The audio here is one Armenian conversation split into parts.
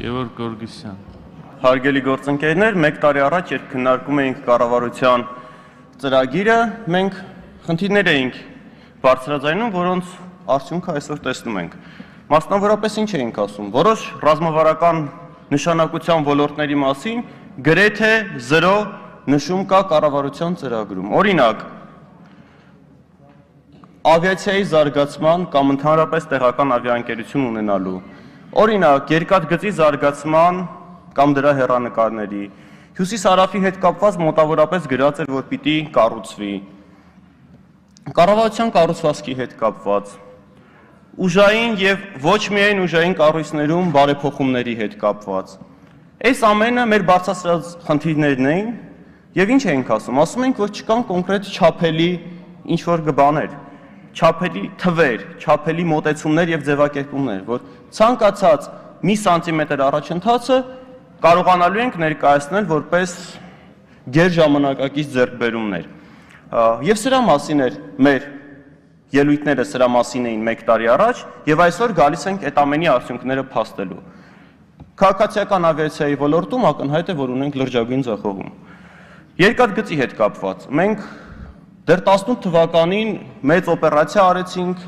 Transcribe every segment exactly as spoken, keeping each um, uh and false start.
Գևորգ Գորգիսյան։ Հարգելի գործընկերներ, մեկ տարի առաջ, երբ քննարկում էինք կառավարության ծրագիրը, մենք խնդիրներ էինք բարձրաձայնում, որոնց արդյունքը այսօր տեսնում ենք։ Մասնավորապես ինչ էինք ասում, որոշ ռազմավարական նշանակության ոլորտների մասին գրեթե զրո նշում կա կառավարության ծրագրում։ Օրինակ, ավիացիայի զարգացման կամ ընդհանրապես տեղական ավիաընկերություն ունենալու, օրինակ, երկաթգծի զարգացման կամ դրա հեռանկարների, հյուսիս-հարավի հետ կապված մոտավորապես գրած էր, որ պիտի կառուցվի, կառավարության կառուցվածքի հետ կապված, ուժային եւ ոչ միայն ուժային կառույցներում բարեփոխումների հետ կապված։ Այս ամենը մեր բարձրացրած խնդիրներն էին եւ ինչ էինք ասում, ասում ենք, որ չկան կոնկրետ չափելի ինչ-որ բաներ, չափելի թվեր, չափելի մոտեցումներ եւ ձևակերպումներ, որ ցանկացած մի սանտիմետր առաջընթացը կարողանալու ենք ներկայացնել որպես գերժամանակակից ձեռքբերումներ։ Եվ սրա մասին էր մեր ելույթները, սրա մասին էին մեկ տարի առաջ, եւ այսօր գալիս ենք այդ ամենի արդյունքները փաստելու։ Քաղաքացիական ավիացիայի ոլորտում ակնհայտ է, որ ունենք լրջագույն ձախողում։ Երկաթգծի հետ կապված մենք դեռ տասնութ թվականին մեծ օպերացիա արեցինք,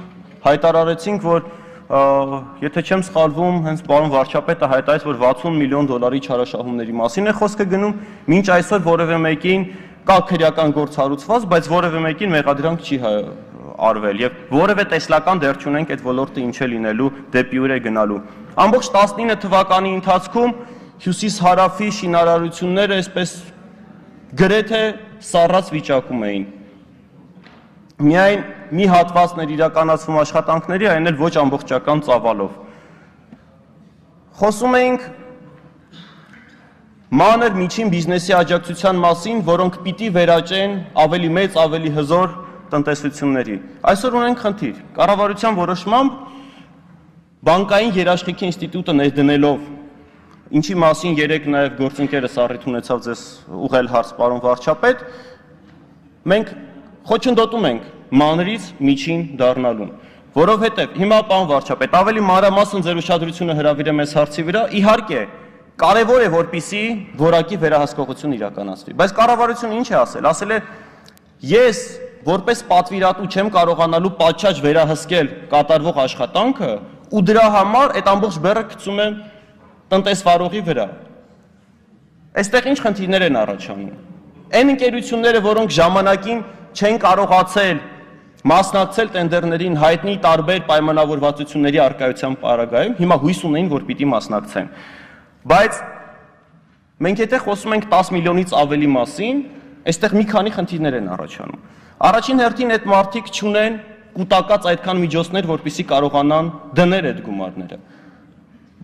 հայտարարեցինք, որ եթե չեմ սխալվում, հենց պարոն վարչապետը հայտարարեց, որ վաթսուն միլիոն դոլարի չարաշահումների մասին է խոսքը գնում, մինչ այսօր որևէ մեկին կա քրեական գործ հարուցված, բայց որևէ մեկին մեղադրանք չի արվել եւ որևէ տեսլական դեռ չունենք այդ ոլորտը ինչ է լինելու, դեպի ուր է գնալու։ Ամբողջ տասնինը թվականի ընթացքում հյուսիս-հարավի շինարարությունները այսպես գրեթե սառած վիճակում էին։ Միայն մի հատվածներ իրականացվում աշխատանքների, այն էլ ոչ ամբողջական ծավալով։ Խոսում էինք մանր միջին բիզնեսի աջակցության մասին, որոնք պիտի վերաճեն ավելի մեծ, ավելի հզոր տնտեսությունների։ Այսօր ունենք խնդիր։ Կառավարության որոշմամբ բանկային երաշխիքի ինստիտուտը ներդնելով, ինչի մասին երեք նաև գործընկերս առիթ ունեցավ ձեզ ուղղել հարց, պարոն վարչապետ, մենք խոչընդոտում ենք մանրից միջին դառնալուն, որովհետև հիմա պարոն վարչապետ, ավելի մանրամասն ձեր ուշադրությունը հրավիրեմ այս հարցի վրա, իհարկե, կարևոր է, որպեսզի որակի վերահսկողություն իրականացվի, բայց կառավարությունը ինչ է ասել, ասել է, ես որպես պատվիրատու չեմ կարողանալու պատշաճ վերահսկել կատարվող աշխատանքը ու դրա համար այդ ամբողջ բեռը գցում եմ տնտեսվարողի վրա։ Այստեղ ինչ խնդիրներ են առաջանում։ Այն ընկերությունները, որոնք ժամանակին չեն կարողացել մասնակցել տենդերներին հայտնի տարբեր պայմանավորվածությունների առկայության պարագայում, հիմա հույս ունեն, որ պիտի մասնակցեն։ Բայց մենք եթե խոսում ենք տասը միլիոնից ավելի մասին, այստեղ մի քանի խնդիրներ են առաջանում։ Առաջին հերթին այդ մարդիկ չունեն կուտակած այդքան միջոցներ, որպեսզի կարողանան դնել այդ գումարները։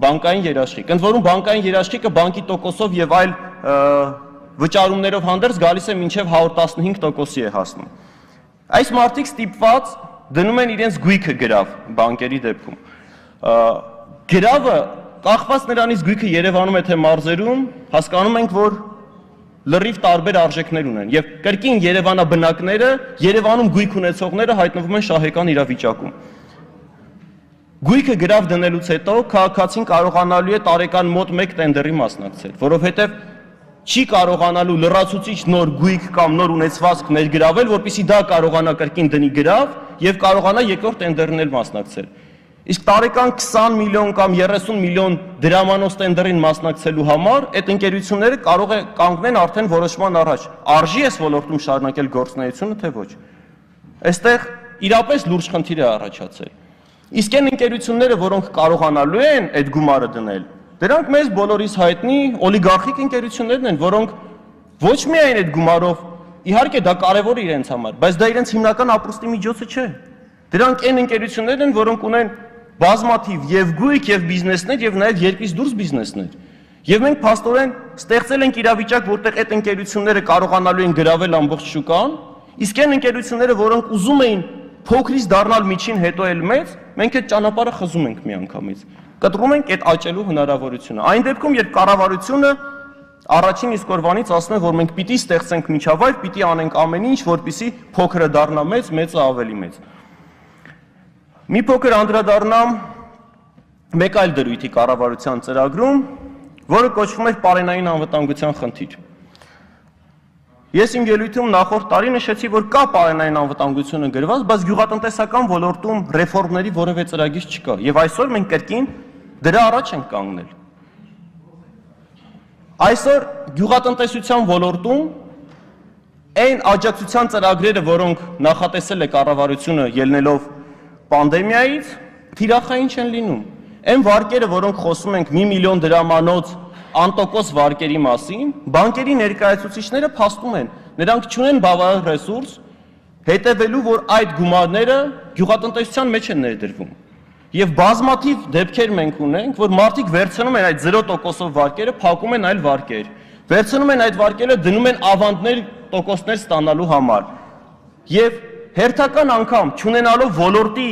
Բանկային երաշխիք, ընդ որում բանկային երաշխիքը բանկի տոկոսով եւ այլ վճարումներով հանդերձ գալիս է մինչև հարյուր տասնհինգ տոկոսի է հասնում։ Այս մարդիկ ստիպված դնում են իրենց գույքը գրավ բանկերի դեպքում։ Գրավը կախված նրանից գույքը Երևանում է թե մարզերում, հասկանում ենք, որ լրիվ տարբեր արժեքներ ունեն եւ կրկին Երևանաբնակները, Երևանում գույք ունեցողները հայտնվում են շահեկան իրավիճակում։ Գույքը գրավ դնելուց հետո քաղաքացին կարողանալու է տարեկան մոտ մեկ տենդերի մասնակցել, որովհետեւ չի կարողանալու լրացուցիչ նոր գույք կամ նոր ունեցվածք ներգրավել, որպեսզի դա կարողանա կրկին դնի գրավ եւ կարողանա երկրորդ տենդերին էլ մասնակցել։ Իսկ տարեկան քսան միլիոն կամ երեսուն միլիոն դրամանոց տենդերին մասնակցելու համար այդ ընկերությունները կարող է կանգնեն արդեն որոշման առաջ։ Արժի էս ոլորտում շարունակել գործունեությունը, թե ոչ։ Այստեղ իրապես լուրջ խնդիր է առաջացել։ Իսկ այն ընկերությունները, որոնք կարողանալու են այդ գումարը դնել, դրանք մեզ բոլորիս հայտնի օլիգարխիկ ընկերություններն են, որոնք ոչ միայն այդ գումարով, իհարկե դա կարևոր է իրենց համար, բայց դա իրենց հիմնական ապրուստի միջոցը չէ։ Դրանք այն ընկերություններն են, որոնք ունեն բազմաթիվ եւ գույք եւ բիզնեսներ եւ նաեւ երկրից դուրս բիզնեսներ։ Եվ մենք փաստորեն ստեղծել ենք իրավիճակ, որտեղ այդ ընկերությունները կարողանալու են գրավել ամբողջ շուկան, իսկ այն ընկերությունները, որոնք ուզում էին փոքրից դառնալ միջին, հետո էլ մեծ, մենք այդ ճանապարհը խզում ենք միանգամից։ Կտրում ենք այդ աճելու հնարավորությունը։ Այն դեպքում, երբ կառավարությունը առաջին իսկ օրվանից ասում է, որ մենք պիտի ստեղծենք միջավայր, պիտի անենք ամեն ինչ, որպեսզի փոքրը դառնա մեծ, մեծը ավելի մեծ։ Մի փոքր անդրադառնամ մեկ այլ դրույթի կառավարության ծրագրում, որը կոչվում էր պարենային անվտանգության խնդիր։ Ես իմ ելույթում նախորդ տարի նշեցի, որ կա պարենային անվտանգությունը գրված, բայց գյուղատնտեսական ոլորտում ռեֆորմների որևէ ծրագիր չկա, եւ այսօր մենք կրկին դրա առաջ ենք կանգնել։ Այսօր գյուղատնտեսության ոլորտում այն աջակցության ծրագրերը, որոնք նախատեսել է կառավարությունը ելնելով պանդեմիայից, թիրախային չեն լինում։ Այն վարկերը, որոնք խոսում ենք մի միլիոն դրամանոց անտոկոս վարկերի մասին, բանկերի ներկայացուցիչները փաստում են, նրանք չունեն բավարար ռեսուրս հետևելու, որ այդ գումարները գյուղատնտեսության մեջ են ներդրվում։ Եվ բազմաթիվ դեպքեր մենք ունենք, որ մարդիկ վերցնում են այդ զիրո տոկոսով վարկերը, փակում են այլ վարկեր, վերցնում են այդ վարկերը, դնում են ավանդներ, տոկոսներ ստանալու համար։ Եվ հերթական անգամ, չունենալով ոլորտի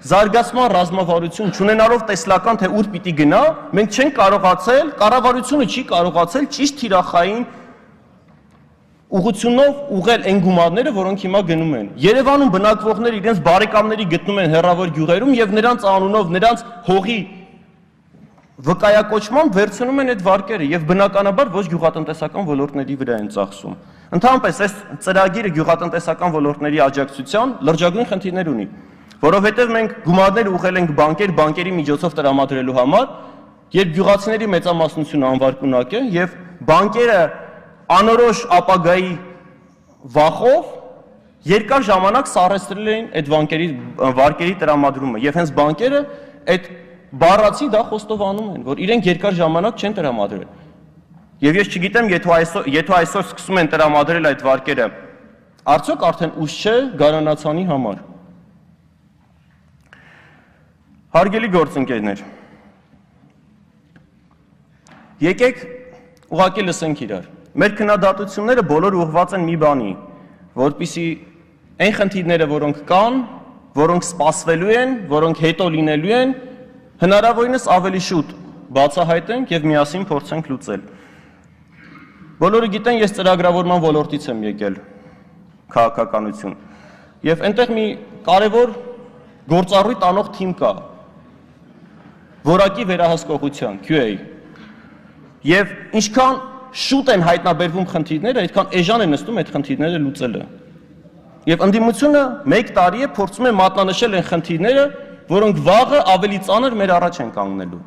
զարգացման ռազմավարություն, չունենալով տեսլական, թե ուր պիտի գնա, մենք չենք կարողացել, կառավարությունը չի կարողացել ճիշտ թիրախային ուղղությունով ուղղել այն գումարները, որոնք հիմա գնում են։ Երևանում բնակվողները իրենց բարեկամների գտնում են հեռավոր գյուղերում եւ նրանց անունով, նրանց հողի վկայակոչմամբ վերցնում են այդ վարկերը եւ բնականաբար ոչ գյուղատնտեսական ոլորտների վրա են ծախսում։ Ընդհանրապես այս ծրագիրը գյուղատնտեսական ոլորտների աջակցության լրջագույն խնդիրներ ունի, որովհետեւ մենք գումարներ ուղղել ենք բանկեր, բանկերի միջոցով տրամադրելու համար, երբ գյուղացիների մեծամասնությունը անվարկունակ է եւ բանկերը անորոշ ապագայի վախով երկար ժամանակ սառեցրել էին այդ վարկերի վարկերի տրամադրումը եւ հենց բանկերը այդ բառացի դա խոստովանում են, որ իրենք երկար ժամանակ չեն տրամադրել։ Եվ ես չգիտեմ, եթե այսօր եթե այսօր սկսում են տրամադրել այդ վարկերը, արդյոք արդեն ուշ չէ գարանացանի համար։ Հարգելի գործընկերներ, եկեք ուղղակի լսենք իրար։ Մեր քննադատությունները բոլորը ուղղված են մի բանի, որպեսզի այն խնդիրները, որոնք կան, որոնք սպասվելու են, որոնք հետո լինելու են, հնարավորինս ավելի շուտ բացահայտենք եւ միասին փորձենք լուծել։ Բոլորը գիտեն, ես ծրագրավորման ոլորտից եմ եկել, քաղաքականություն։ Եվ այնտեղ մի կարևոր գործառույթ անող թիմ կա, որակի վերահսկողության, Q A։ Եվ ինչքան շուտ են հայտնաբերվում խնդիրները, այդքան էժան է նստում այդ խնդիրները լուծելը։ Եվ ընդդիմությունը մեկ տարի է փորձում է մատնանշել այն խնդիրները, որոնք վաղը ավելի ծանր մեր առաջ են կանգնելու։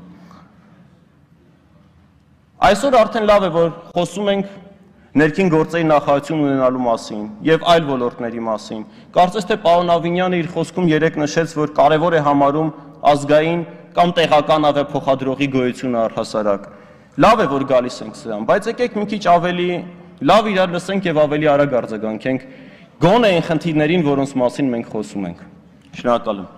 Այսօր արդեն լավ է, որ խոսում ենք ներքին գործերի նախարարություն ունենալու մասին եւ այլ ոլորտների մասին։ Կարծես թե պարոն Ավինյանը իր խոսքում երեք նշեց, որ կարևոր է համարում ազգային կամ տեղական ավիափոխադրողի գոյությունը առհասարակ։ Լավ է, որ գալիս ենք սրան, բայց եկեք մի քիչ ավելի լավ իրար լսենք եւ ավելի արագ արձագանքենք գոնե այն խնդիրներին, որոնց մասին մենք խոսում ենք։ Շնորհակալ եմ։